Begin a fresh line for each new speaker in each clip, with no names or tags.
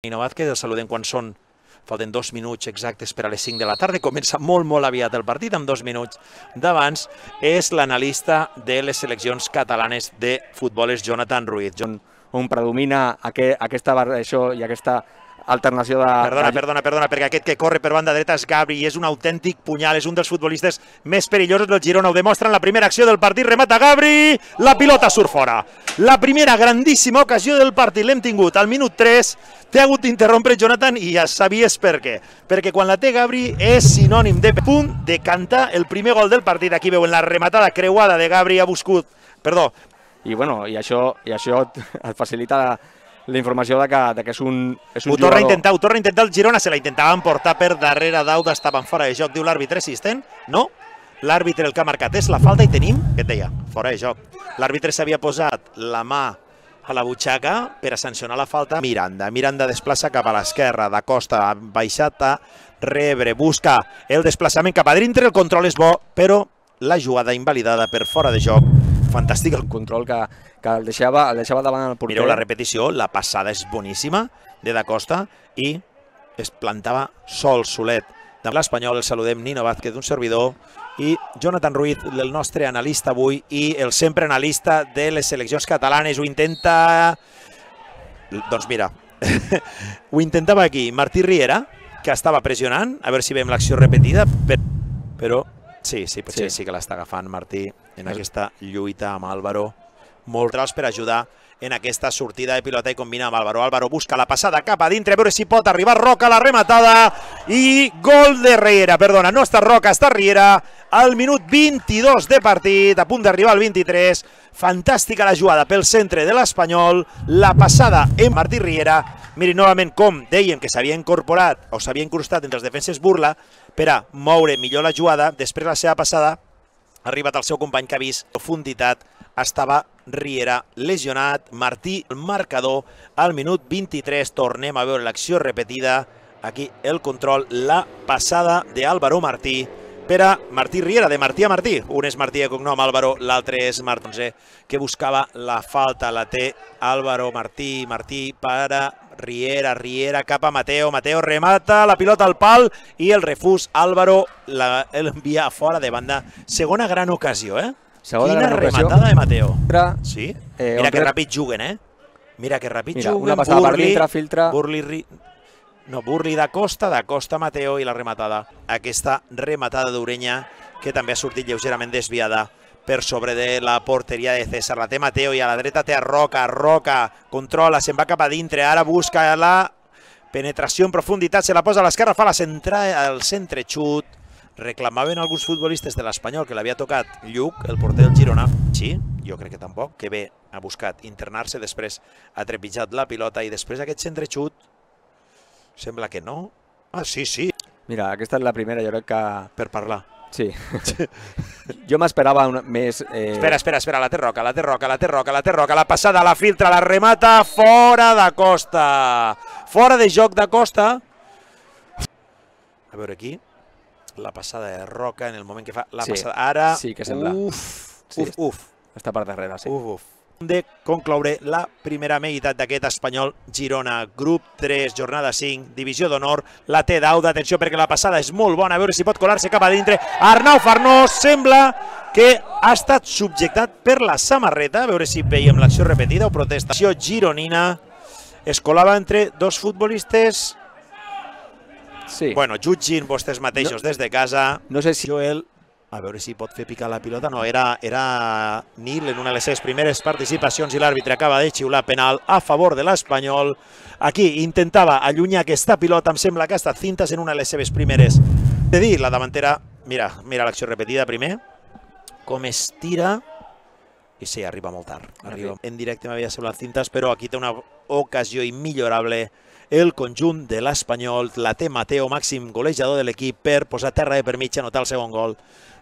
Nino Vázquez, el saludem quan són, falten 2 minuts exactes per a les 5 de la tarda, comença molt aviat el partit, amb 2 minuts d'abans, és l'analista de les seleccions catalanes de futbol, és Jonathan Ruiz.
On predomina aquesta variació i aquesta alternació de...
Perdona, perquè aquest que corre per banda dreta és Gabri i és un autèntic punyal, és un dels futbolistes més perillosos del Girona, ho demostra en la primera acció del partit, remata Gabri, la pilota surt fora. La primera grandíssima ocasió del partit l'hem tingut al minut 3, t'he hagut d'interrompre, Jonathan, i ja sabies per què. Perquè quan la té Gabri és sinònim de punt de cantar el primer gol del partit. Aquí veuen la rematada creuada de Gabri, ha buscat... Perdó.
I això et facilita la informació que és un
jugador... Ho torna a intentar el Girona, se la intentaven portar per darrere d'Auda, estaven fora de joc, diu l'àrbitre assistent, no? L'àrbitre el que ha marcat és la falta i tenim, què et deia, fora de joc. L'àrbitre s'havia posat la mà a la butxaca per a sancionar la falta. Miranda desplaça cap a l'esquerra, d'Acosta ha baixat a rebre, busca el desplaçament cap a dintre, el control és bo, però la jugada invalidada per fora de joc. Fantàstic el control que el deixava davant el porter. Mireu la repetició, la passada és boníssima de d'Acosta i es plantava solet. De l'Espanyol el saludem Nino Vázquez, un servidor, i Jonathan Ruiz, el nostre analista avui i el sempre analista de les seleccions catalanes. Ho intenta... Doncs mira, ho intentava aquí Martí Riera, que estava pressionant, a veure si veiem l'acció repetida, però... Sí que l'està agafant Martí en aquesta lluita amb Álvaro. Molt trals per ajudar en aquesta sortida de pilota i combina amb Álvaro. Álvaro busca la passada cap a dintre, a veure si pot arribar Roca, la rematada i gol de Riera. Perdona, no està Roca, està Riera al minut 22 de partit, a punt d'arribar al 23. Fantàstica la jugada pel centre de l'Espanyol, la passada en Martí Riera. Miri novament com dèiem que s'havia incorporat o s'havia incrustat entre els defenses Burla per a moure millor la jugada. Després la seva passada ha arribat al seu company que ha vist profunditat. Estava Riera lesionat. Martí, el marcador al minut 23. Tornem a veure l'acció repetida. Aquí el control, la passada d'Álvaro Martí per a Martí Riera, de Martí a Martí. Un és Martí de cognom, Álvaro, l'altre és Martí, que buscava la falta. La té Álvaro Martí per a Riera cap a Mateo, remata, la pilota al pal i el refús, Álvaro l'envia fora de banda. Segona gran ocasió, eh? Quina rematada de Mateo. Sí? Mira que ràpid juguen, eh? Mira que ràpid juguen.
Una passada per dintre, filtra.
Burli d'Acosta, Mateo i la rematada. Aquesta rematada d'Ureña que també ha sortit lleugerament desviada per sobre de la porteria de César. La té Mateo i a la dreta té a Roca. Roca controla, se'n va cap a dintre. Ara busca la penetració en profunditat, se la posa a l'esquerra, fa la centrada al centre xut. Reclamaven alguns futbolistes de l'Espanyol que l'havia tocat Lluc, el porter del Girona. Sí, jo crec que tampoc, que bé ha buscat internar-se, després ha trepitjat la pilota i després aquest centre xut sembla que no. Ah, sí.
Mira, aquesta és la primera, jo crec que...
Per parlar.
Sí. Jo m'esperava més...
Espera, la té Roca, la passada, la filtra, la remata, fora d'Acosta. Fora de joc d'Acosta. A veure aquí, la passada de Roca en el moment que fa la passada. Ara,
sí que sembla. Està per darrere, sí.
De concloure la primera meitat d'aquest Espanyol Girona, grup 3, jornada 5, divisió d'honor, la té d'Auda, atenció perquè la passada és molt bona, a veure si pot colar-se cap a dintre. Arnau Farnós sembla que ha estat subjectat per la samarreta, a veure si veiem l'acció repetida o protestació gironina. Es colava entre dos futbolistes.
Sí.
Bueno, jutgin vostès mateixos des de casa.
No sé si...
Joel, a veure si pot fer picar la pilota. No, era Nil en una de les seves primeres participacions i l'àrbitre acaba de xiular penal a favor de l'Espanyol. Aquí intentava allunyar aquesta pilota, em sembla que ha estat cintes en una de les seves primeres. De dir, la davantera, mira l'acció repetida primer, com es tira, i sí, arriba molt tard. En directe m'havia semblat cintes, però aquí té una ocasió immillorable el conjunt de l'Espanyol. La té Mateo, màxim golejador de l'equip, per posar terra de per mig, anotar el segon gol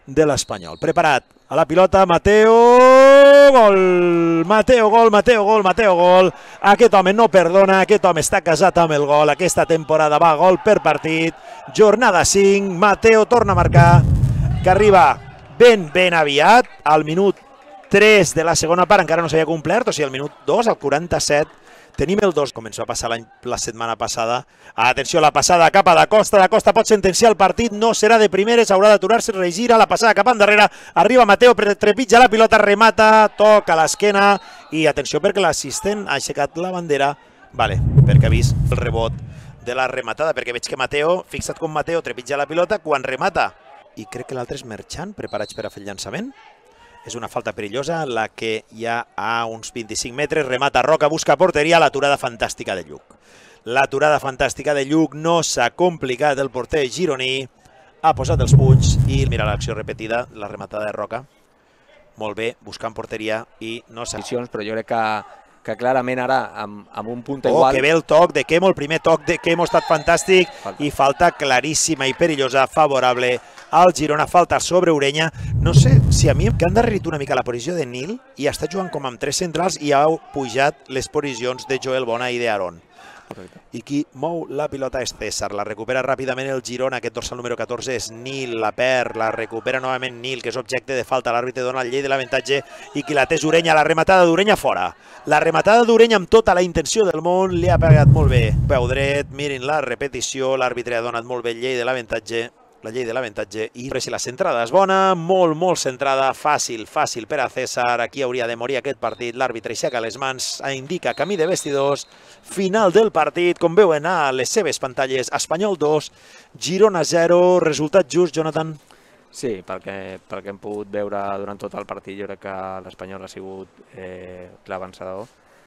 de l'Espanyol. Preparat a la pilota, Mateo, gol! Mateo, gol! Aquest home no perdona, aquest home està casat amb el gol. Aquesta temporada va gol per partit. Jornada 5, Mateo torna a marcar, que arriba ben aviat, al minut 3 de la segona part, encara no s'havia complert, o sigui, al minut 2, al 47, Tenim el 2, com ens va passar la setmana passada. Atenció, la passada cap a Da Costa. Da Costa pot sentenciar el partit, no serà de primeres, haurà d'aturar-se, regira, la passada cap endarrere, arriba Mateo, trepitja la pilota, remata, toca l'esquena i atenció perquè l'assistent ha aixecat la bandera, vale, perquè ha vist el rebot de la rematada, perquè veig que Mateo, fixa't com Mateo trepitja la pilota quan remata, i crec que l'altre és Merchan, preparats per a fer el llançament. És una falta perillosa, la que ja a uns 25 metres remata Roca, busca porteria, l'aturada fantàstica de Lluc. L'aturada fantàstica de Lluc, no s'ha complicat el porter gironí, ha posat els punys i mira l'acció repetida, la rematada de Roca. Molt bé, buscant porteria i no s'ha...
Però jo crec que clarament ara, amb un punt igual...
que bé el toc de Quemo, el primer toc de Quemo ha estat fantàstic i falta claríssima i perillosa, favorable al Girona, falta sobre Ureña. No sé si a mi que han darrerit una mica la posició de Nil i està jugant com amb 3 centrals i ha pujat les posicions de Joel Bona i d'Aaron. I qui mou la pilota és César, la recupera ràpidament el Girona, aquest dorsal número 14 és Nil, la perd, la recupera novament Nil, que és objecte de falta, l'àrbitre dona el llei de l'avantatge i qui la té és Ureña, la rematada d'Ureña fora. La rematada d'Ureña amb tota la intenció del món, li ha pegat molt bé. Peu dret, mirin la repetició, l'àrbitre ha donat molt bé el llei de l'avantatge, la llei de l'avantatge, i si la centrada és bona, molt centrada, fàcil per a César, aquí hauria de morir aquest partit, l'àrbitre aixeca les mans, indica camí de vestidors, final del partit, com veuen a les seves pantalles, Espanyol 2, Girona 0, resultat just, Jonathan?
Sí, pel que hem pogut veure durant tot el partit, jo crec que l'Espanyol ha sigut clar vencedor.